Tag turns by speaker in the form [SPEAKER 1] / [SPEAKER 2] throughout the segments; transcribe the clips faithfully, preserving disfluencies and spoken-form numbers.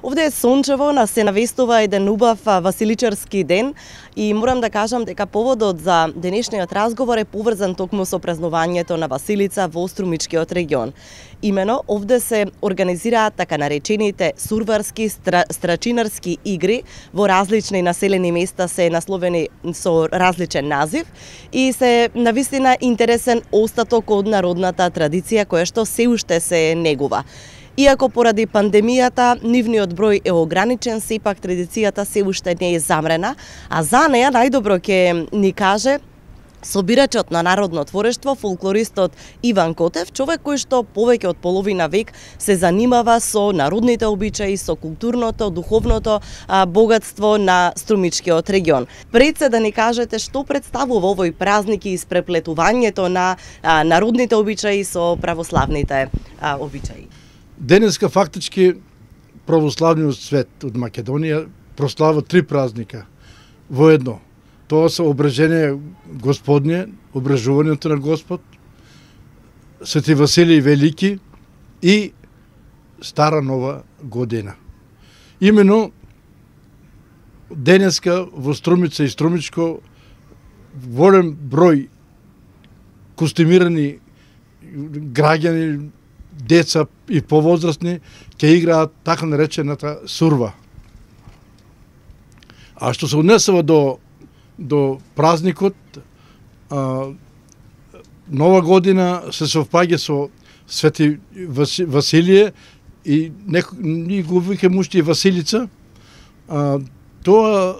[SPEAKER 1] Овде е сончево, нас се навестува еден убав василичарски ден и морам да кажам дека поводот за денешниот разговор е поврзан токму со празнувањето на Василица во Струмичкиот регион. Имено, овде се организираат така наречените сурварски, стра, страчинарски игри во различни населени места се насловени со различен назив и се навистина интересен остаток од народната традиција која што се уште се негува. Иако поради пандемијата нивниот број е ограничен, сепак традицијата се уште не е замрена, а за неа најдобро ќе ни каже собирачот на народно творештво, фолклористот Иван Котев, човек кој што повеќе од половина век се занимава со народните обичаи, со културното, духовното а, богатство на Струмичкиот регион. Пред се да ни кажете што представува овој празник и испреплетувањето на а, народните обичаи со православните а, обичаи.
[SPEAKER 2] Денеска фактички православниот свет од Македонија прослава три празника во едно. Тоа се обрежение Господње, обрежувањето на Господ, Свети Василий Велики и Стара Нова година. Имено денеска во Струмица и Струмичко голем број костимирани граѓани, деца и повозрастни ќе играат така наречената сурва. А што се однесува до до празникот, а, Нова година се совпаѓа со Свети Василие и ние го викаме уште и Василица. А, тоа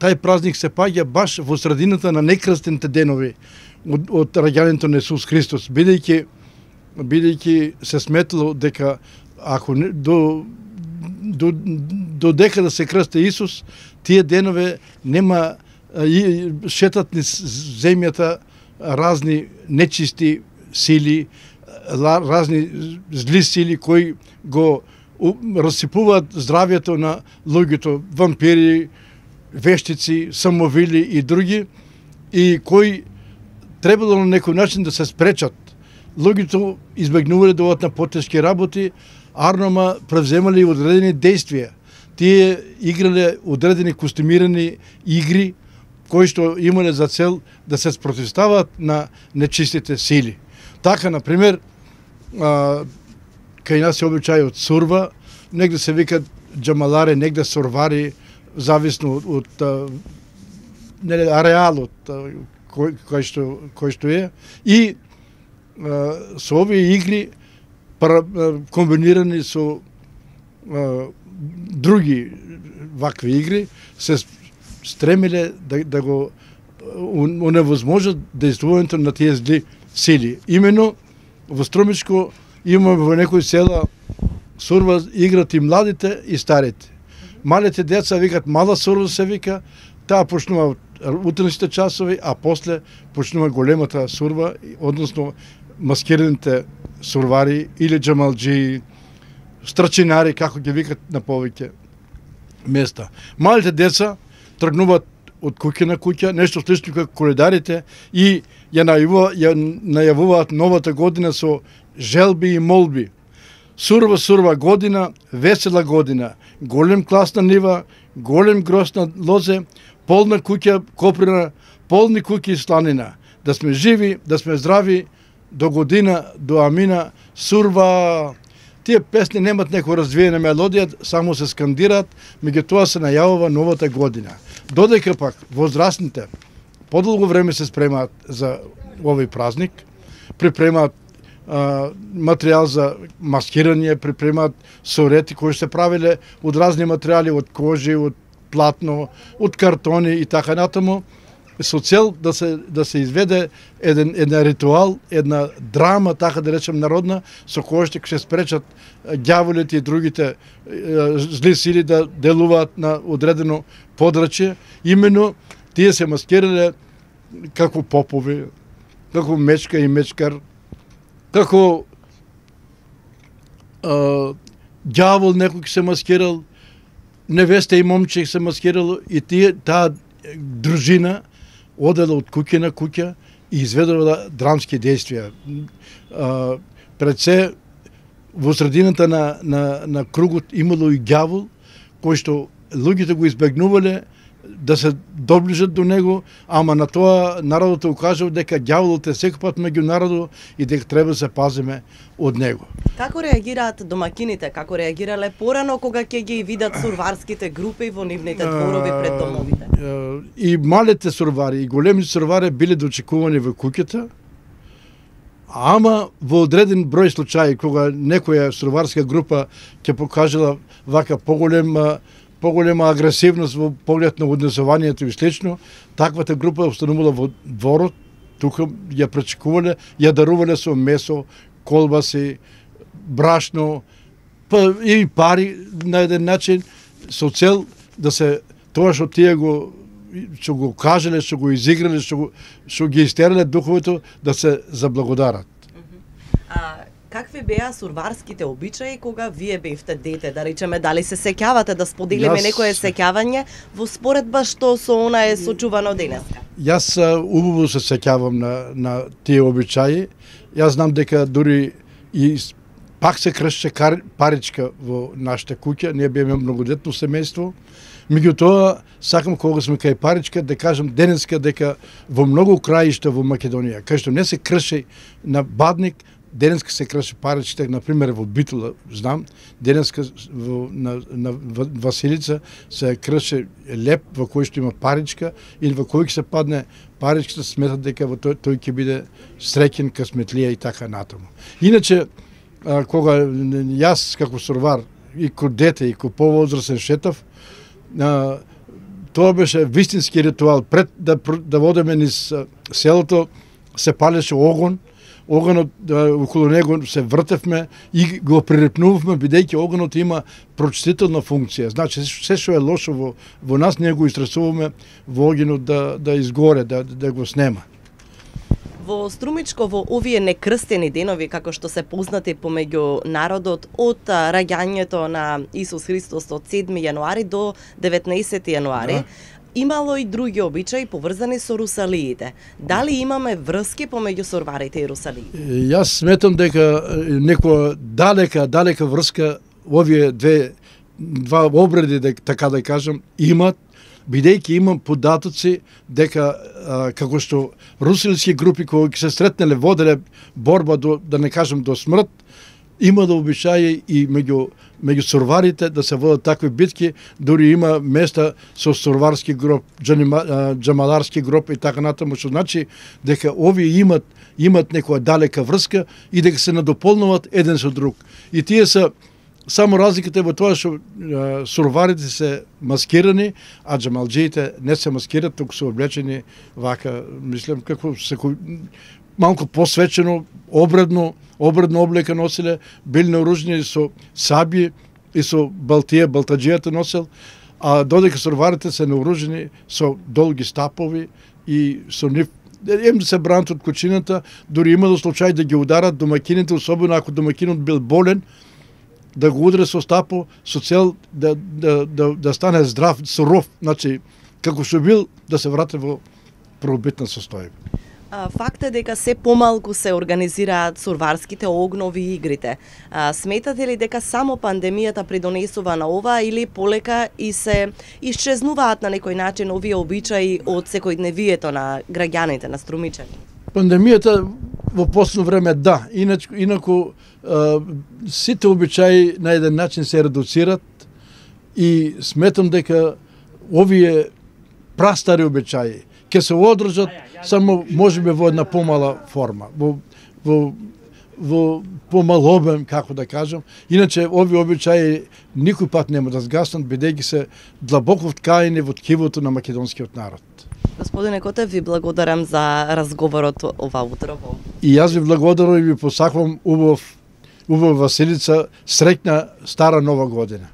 [SPEAKER 2] тај празник се паѓа баш во средината на некрстените денови од, од раѓањето на Исус Христос, бидејќи бидејќи се сметало дека ако не, до до до дека да се крсти Исус, тие денове нема и шетат низ земјата разни нечисти сили, разни зли сили кои го расипуваат здравјето на луѓето, вампири, вештици, самовили и други, и кои требало на некој начин да се спречат. Луѓето избегнувале да одат на потешки работи, арнома превземале одредени действија. Тие играле одредени костимирани игри кои што имале за цел да се спротивстават на нечистите сили. Така, например, а, кај нас се обичај од сурва, негде се викат джамалари, негде сурвари, зависно од, од нели, ареалот кој, кој, што, кој што е. И а, со овие игри пара, комбинирани со а, други вакви игри се стремиле да, да го оневозможат действувањето на тие зли сили. Имено во Струмичко имаме во некои села сурва играт и младите и старите. Малите деца викат мала сурва се вика, таа почнува утренските часови, а после почнува големата сурва, односно маскираните сурвари или джамалџии, страчинари, како ги викат на повеќе места. Малите деца тргнуваат од куќа на куќа, нешто слично како коледарите, и ја најавуваат, ја најавуваат новата година со желби и молби. Сурва, сурва година, весела година, голем клас на нива, голем гроз на лозе, полна куќа коприна, полни куќи и сланина. Да сме живи, да сме здрави, до година, до амина, сурва. Тие песни немат некоја развиена мелодија, само се скандираат, меѓутоа се најавува новата година. Додека пак возрастните подолго време се спремаат за овој празник, припремаат а, материјал за маскирање, припремаат сорети кои се правиле од разни материјали, од кожи, од платно, од картони и така натаму, со цел да се да се изведе еден еден ритуал, една драма, така да речем народна, со која што ќе се спречат ѓаволите и другите е, зли сили да делуваат на одредено подрачје. Имено тие се маскирале како попови, како мечка и мечкар, како ѓавол некој се маскирал, невеста и момче се маскирало, и тие таа дружина одела од куќа на куќа и изведувала драмски действија. Пред се во средината на, на, на кругот имало и ѓавол, кој што луѓето го избегнувале да се доближат до него, ама на тоа народот укажал дека ѓаволот е секој меѓу народот и дека треба да се пазиме од него.
[SPEAKER 1] Како реагираат домакините? Како реагирале порано кога ќе ги видат сурварските групи во нивните дворови пред домовите?
[SPEAKER 2] И малите сурвари, и големите сурвари биле дочекувани во куќата, ама во одреден број случаи кога некоја сурварска група ќе покажала вака поголема поголема агресивност во поглед на однесувањето и слично, таквата група останувала во дворот, тука ја пречекувале, ја дарувале со месо, колбаси, брашно, па и пари на еден начин со цел да се тоа што тие го што го кажале, што го изиграле, што го што ги истерале духовото да се заблагодарат.
[SPEAKER 1] А какви беа сурварските обичаи кога вие бевте дете, да речеме, дали се сеќавате да споделиме
[SPEAKER 2] Јас...
[SPEAKER 1] некое сеќавање во споредба што со она е сочувано денеска?
[SPEAKER 2] Јас убаво се сеќавам на на тие обичаи. Јас знам дека дури и пак се кршче паричка во нашата куќа, ние беме многодетно семејство. Меѓутоа, сакам кога сме кај паричка да кажам денеска дека во многу краишта во Македонија, кај што не се крши на бадник, денеска се крши паричка, например во Битола, знам, денеска во, на, на Василица се крши леп во кој што има паричка или во кој ќе се падне паричката, сметат дека во тој, тој ќе биде среќен, късметлија и така натаму. Иначе, а, кога јас како сурвар и ко дете и ко повозрасен шетав, а, тоа беше вистински ритуал. Пред да, да водеме низ селото, се палеше огон, огонот, да, околу него се вртевме и го прирепнувавме, бидејќи огонот има прочистителна функција. Значи, се што е лошо во, во нас, ние го истресуваме во огонот да, да изгоре, да, да го снема.
[SPEAKER 1] Во Струмичко, во овие некрстени денови, како што се познати помеѓу народот, од раѓањето на Исус Христос од седми јануари до деветнаесети јануари, да, имало и други обичаи поврзани со русалиите. Дали имаме врски помеѓу сурварите и русалиите?
[SPEAKER 2] Јас сметам дека некоја далека, далека врска овие две два обреди, така да кажам, имат, бидејќи имам податоци дека а, како што русилски групи кои се сретнеле воделе борба до, да не кажам до смрт, има да обичаи и меѓу меѓу сурварите да се водат такви битки, дури има места со сурварски гроб, џамаларски гроб и така натаму, што значи дека овие имат имат некоја далека врска и дека се надополнуваат еден со друг. И тие се само разликата е во тоа што сурварите се маскирани, а џамалџиите не се маскират, туку се облечени вака, мислам, како секој малку посвечено, обредно, обредно облека носиле, били наоружени со саби и со балтија, балтаџијата носел, а додека сурварите се наоружени со долги стапови и со нив ем да се бранат од кучината, дури имало случај да ги ударат домакините, особено ако домакинот бил болен, да го ударе со стапо со цел да, да, да, да стане здрав, суров, значи како што бил да се врати во првобитна состојба.
[SPEAKER 1] Факт е дека се помалку се организираат сурварските огнови и игрите. А, сметате ли дека само пандемијата придонесува на ова или полека и се исчезнуваат на некој начин овие обичаи од секојдневието на граѓаните, на струмичани?
[SPEAKER 2] Пандемијата во последно време да, иначе инаку а, сите обичаи на еден начин се редуцират и сметам дека овие прастари обичаи ќе се одржат само можеби во една помала форма, во во во помал обем, како да кажам. Иначе овие обичаи никој пат нема да згаснат, бидејќи се длабоко вткаени во ткивото на македонскиот народ.
[SPEAKER 1] Господине Котев, ви благодарам за разговорот ова утро.
[SPEAKER 2] И јас ви благодарам и ви посакувам убав убава Василица, среќна стара нова година.